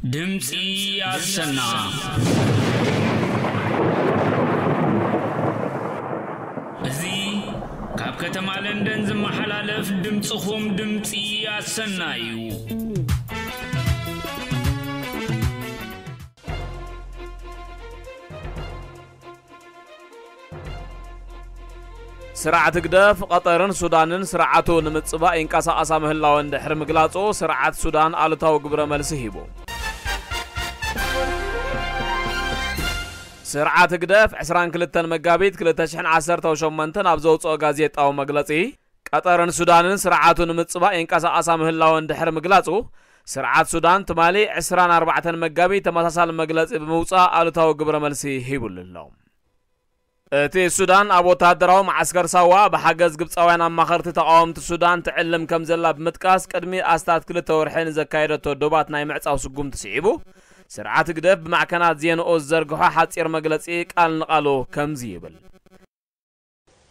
ድምፂ ኣሰና። እዚ ካብ ከተማ ለንደን ዝመሓላለፍ ድምፅኹም ድምፂ ኣሰና እዩ። ስርዓት ህግደፍ፣ ቀጠርን ሱዳንን ስርዓቱ ንምጽባእ ይንቀሳቐሳ ምህላወን ድሕሪ ምግላጹ፣ ስርዓት ሱዳን ኣሉታዊ ግብረ መልሲ ሂቡ። ስርዓት ህግደፍ፣ ዕስራን ክልተን መጋቢት ክልተ ሽሕን ዓሰርተን ሸሞንተን ኣብ ዘውጽኦ ጋዜጣዊ መግለጺ፣ ቀጠርን ሱዳንን ስርዓቱ ንምጽባእ ይንቀሳቐሳ ምህላወን ድሕሪ ምግላጹ፣ ስርዓት ሱዳን ትማሊ ዕስራን ኣርባዕተን መጋቢት ተመሳሳሊ መግለጺ ብምውጻእ ኣሉታዊ ግብረ መልሲ ሂቡሉ ኣሎ። እቲ ሱዳን ኣብ ወተሃደራዊ መዓስከር ሳዋ ብሓገዝ ግብጻውያን ኣማኸርቲ ተቓወምቲ ሱዳን ትዕልም ከም ዘላ ብምጥቃስ፣ ቅድሚ ኣስታት ክልተ ወርሒ ንዘካየደቶ ዶባት ናይ ምዕጻው ስጉምቲ ስዒቡ፣ ስርዓት ህግደፍ ብማዕከናት ዜንኡ ዝዘርግሖ ሓጺር መግለጺ ቃል ንቓሉ ከምዚ ይብል።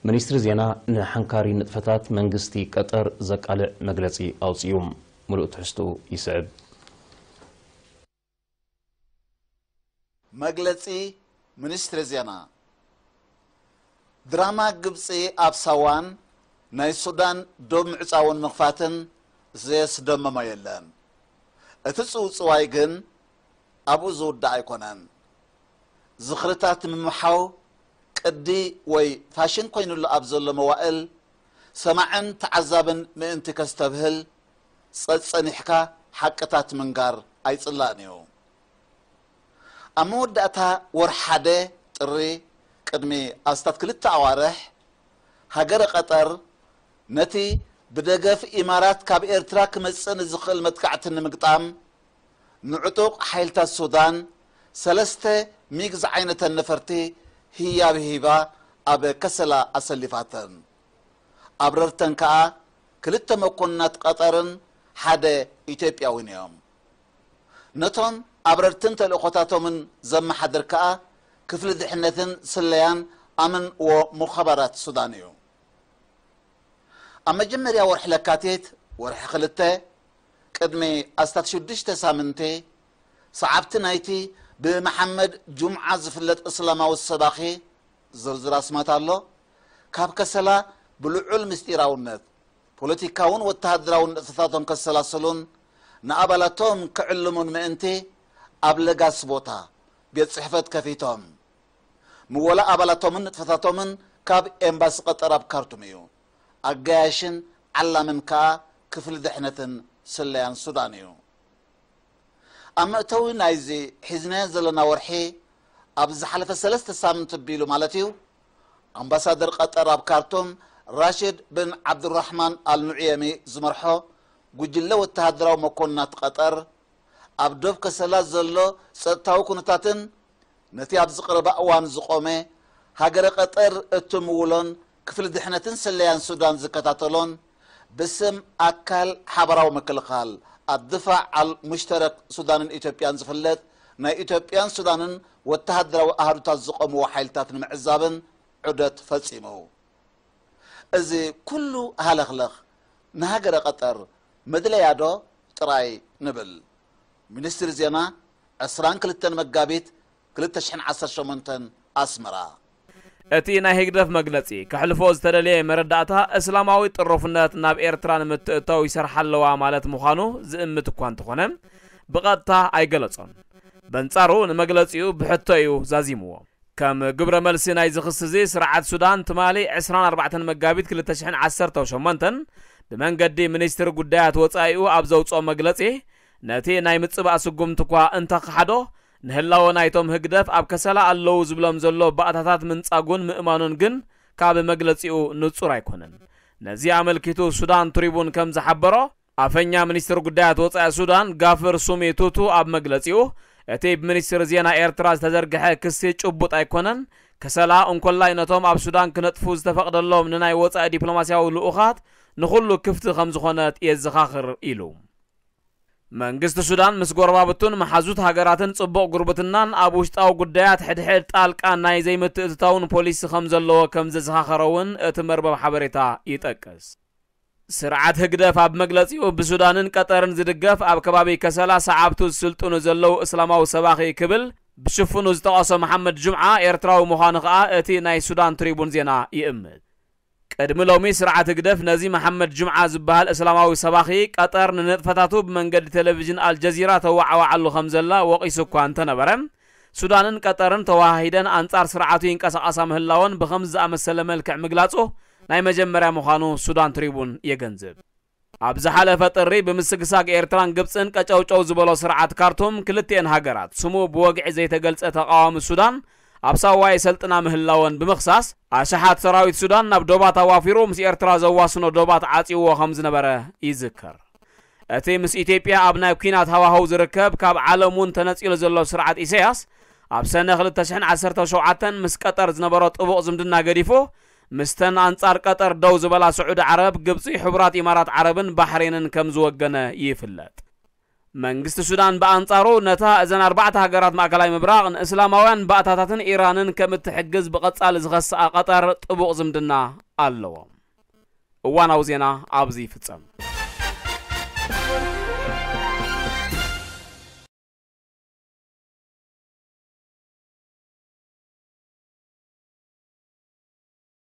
ሚኒስትሪ ዜና ንሓንካሪ ንጥፈታት መንግስቲ ቀጠር ዘቃልዕ መግለጺ ኣውጺኡ። ምሉእ ትሕዝትኡ ይስዕብ። መግለጺ ሚኒስትሪ ዜና። ድራማ ግብጺ ኣብ ሳዋን ናይ ሱዳን ዶብ ምዕጻውን ምኽፋትን ዘየስደመሞ የለን። እቲ ጽውጽዋይ ግን ኣብኡ ዝውዳእ ኣይኮነን። ዝኽርታት ምምሓው ቅዲ ወይ ፋሽን ኮይኑሉ ኣብ ዘሎ መዋእል፣ ሰማዕን ተዓዛብን ምእንቲ ከስተብህል፣ ጸጸኒሕካ ሓቅታት ምንጋር ኣይጽላእን እዩ። ኣብ መወዳእታ ወርሒ ሓደ ጥሪ፣ ቅድሚ ኣስታት ክልተ ኣዋርሕ፣ ሃገረ ቀጠር ነቲ ብደገፍ ኢማራት ካብ ኤርትራ ክመጽእ ንዝኽእል መጥቃዕቲ ንምግጣም፣ ንዕጡቕ ሓይልታት ሱዳን ሰለስተ ሚግ ዝዓይነተን ነፈርቲ ህያብ ሂባ ኣብ ከሰላ ኣሰሊፋተን። ኣብረርተን ከኣ ክልተ መኮንናት ቀጠርን ሓደ ኢትዮጵያውን እዮም። ነቶም ኣብረርትን ተልእኾታቶምን ዘመሓድር ከኣ ክፍሊ ድሕነትን ስለያን ኣምን ወሙኻባራት ሱዳን እዩ። ኣብ መጀመርያ ወርሒ ለካቲት፣ ወርሒ ክልተ፣ ቅድሚ ኣስታት ሽዱሽተ ሳምንቲ፣ ሰዓብቲ ናይቲ ብመሓመድ ጁምዓ ዝፍለጥ እስላማዊ ሰባኺ፣ ዝርዝር ኣስማት ኣሎ፣ ካብ ከሰላ ብልዑል ምስጢራውነት፣ ፖለቲካውን ወተሃደራውን ንጥፈታቶም ከሰላስሉን ንኣባላቶም ክዕልሙን ምእንቲ፣ ኣብ ለጋስ ቦታ ቤት ጽሕፈት ከፊቶም። ምወላ ኣባላቶምን ንጥፈታቶምን ካብ ኤምባሲ ቀጠር ኣብ ካርቱም እዩ። ኣጋያሽን ዓላምን ከኣ ክፍሊ ድሕነትን ስለያን ሱዳን እዩ። ኣብ መእተዊ ናይዚ ሒዝናዮ ዘለና ወርሒ፣ ኣብ ዝሓለፈ ሰለስተ ሳምንት ኣቢሉ ማለት እዩ፣ ኣምባሳደር ቀጠር ኣብ ካርቱም ራሽድ ብን ዓብዱራሕማን ኣልኑዕየሚ ዝመርሖ ጉጅለ ወተሃደራዊ መኮንናት ቀጠር፣ ኣብ ዶብ ከሰላ ዘሎ ጸጥታዊ ኩነታትን ነቲ ኣብዚ ቀረባ እዋን ዝቖመ ሃገረ ቀጠር እትምውሎን ክፍሊ ድሕነትን ስለያን ሱዳን ዝከታተሎን ብስም ኣካል ሓበራዊ ምክልኻል ኣድፋዕ ኣል ሙሽተረክ ሱዳንን ኢትዮጵያን ዝፍለጥ ናይ ኢትዮጵያን ሱዳንን ወተሃደራዊ ኣሃዱታት ዝቖምዎ ሓይልታት ንምዕዛብን ዑደት ፈጺሙ። እዚ ኩሉ ሃለኽለኽ ንሃገረ ቀጠር መድለያ ዶ ጥራይ ንብል? ሚኒስትሪ ዜና፣ ዕስራን ክልተን መጋቢት ክልተ ሽሕን ዓሰርተ ሸሞንተን፣ ኣስመራ። እቲ ናይ ህግደፍ መግለጺ፣ ከሕልፎ ዝተደልየ መረዳእታ፣ እስላማዊ ጥሩፍነት ናብ ኤርትራ ንምትእታው ይሰርሓ ኣለዋ ማለት ምዃኑ ዝእምት እኳ እንተኾነ፣ ብቐጥታ ኣይገለጾን። በንጻሩ፣ ንመግለጺኡ ብሕቶ እዩ ዛዚምዎ። ከም ግብረ መልሲ ናይዚ ክሲ እዚ፣ ስርዓት ሱዳን ትማሊ ዕስራን ኣርባዕተን መጋቢት ክልተ ሽሕን ዓሰርተን ሸሞንተን ብመንገዲ ሚኒስትሪ ጉዳያት ወጻኢኡ ኣብ ዘውጽኦ መግለጺ፣ ነቲ ናይ ምጽባእ ስጉምቲ እኳ እንተኸሓዶ፣ ንህላወ ናይቶም ህግደፍ ኣብ ከሰላ ኣለዉ ዝብሎም ዘሎ ባእታታት ምንጻጉን ምእማኑን ግን ካብ መግለጺኡ ንጹር ኣይኮነን። ነዚ ኣመልኪቱ ሱዳን ትሪቡን ከም ዝሓበሮ፣ ኣፈኛ ሚኒስትሪ ጉዳያት ወጻኢ ሱዳን ጋፍር ሱሚ ቱቱ ኣብ መግለጺኡ፣ እቲ ብሚኒስትሪ ዜና ኤርትራ ዝተዘርግሐ ክሲ ጭቡጥ ኣይኮነን፣ ከሰላ እንኮላይ ነቶም ኣብ ሱዳን ክነጥፉ ዝተፈቕደሎም ንናይ ወጻኢ ዲፕሎማስያዊ ልኡኻት ንኹሉ ክፍቲ ከም ዝኾነት የዘኻኽር ኢሉ። መንግስቲ ሱዳን ምስ ጎረባብቱን መሓዙት ሃገራትን ጽቡቕ ጉርብትናን ኣብ ውሽጣዊ ጉዳያት ሕድሕድ ጣልቃ ናይ ዘይምትእትታውን ፖሊሲ ከም ዘለዎ ከም ዘዘኻኸረ እውን እቲ መርበብ ሓበሬታ ይጠቅስ። ስርዓት ህግደፍ ኣብ መግለጺኡ፣ ብሱዳንን ቀጠርን ዝድገፍ ኣብ ከባቢ ከሰላ ሰዓብቱ ዝስልጥኑ ዘለዉ እስላማዊ ሰባኺ ክብል ብሽፍኑ ዝጠቐሶ መሓመድ ጁምዓ፣ ኤርትራዊ ምዃኑ ከኣ እቲ ናይ ሱዳን ትሪቡን ዜና ይእምት። ቅድሚ ሎሚ ስርዓት ህግደፍ ነዚ መሓመድ ጁምዓ ዝበሃል እስላማዊ ሰባኺ ቀጠር ንንጥፈታቱ ብመንገዲ ቴሌቪዥን ኣልጀዚራ ተወዓዋዓሉ ከም ዘላ ወቒሱ እኳ እንተነበረ፣ ሱዳንን ቀጠርን ተወሃሂደን ኣንጻር ስርዓቱ ይንቀሳቐሳ ምህላወን ብኸምዚ ዝኣመሰለ መልክዕ ምግላጹ ናይ መጀመርያ ምዃኑ ሱዳን ትሪቡን የገንዝብ። ኣብ ዝሓለፈ ጥሪ ብምስግሳግ ኤርትራን ግብጽን ቀጨውጨው ዝበሎ ስርዓት ካርቱም፣ ክልቲኤን ሃገራት ስሙ ብወግዒ ዘይተገልጸ ተቓዋሚ ሱዳን ኣብ ሳዋ የሰልጥና ምህላወን ብምኽሳስ፣ ኣሽሓት ሰራዊት ሱዳን ናብ ዶባት ኣዋፊሩ ምስ ኤርትራ ዘዋስኖ ዶባት ዓጽይዎ ከም ዝነበረ ይዝከር። እቲ ምስ ኢትዮጵያ ኣብ ናይ ኲናት ሃዋህው ዝርከብ፣ ካብ ዓለም እውን ተነጺሉ ዘሎ ስርዓት ኢሳያስ፣ ኣብ ሰነ ክልተ ሽሕን ዓሰርተ ሸውዓተን ምስ ቀጠር ዝነበሮ ጥቡቕ ዝምድና ገዲፉ፣ ምስተን ኣንጻር ቀጠር ደው ዝበላ ስዑዲ ዓረብ፣ ግብጺ፣ ሕቡራት ኢማራት ዓረብን ባሕሬንን ከም ዝወገነ ይፍለጥ። መንግስቲ ሱዳን ብኣንጻሩ፣ ነታ እዘን ኣርባዕተ ሃገራት ማእከላይ ምብራቕ ንእስላማውያን ባእታታትን ኢራንን ከም እትሕግዝ ብቐጻሊ ዝኸስኣ ቀጠር ጥቡቕ ዝምድና ኣለዎ። እዋናዊ ዜና ኣብዚ ይፍጸም።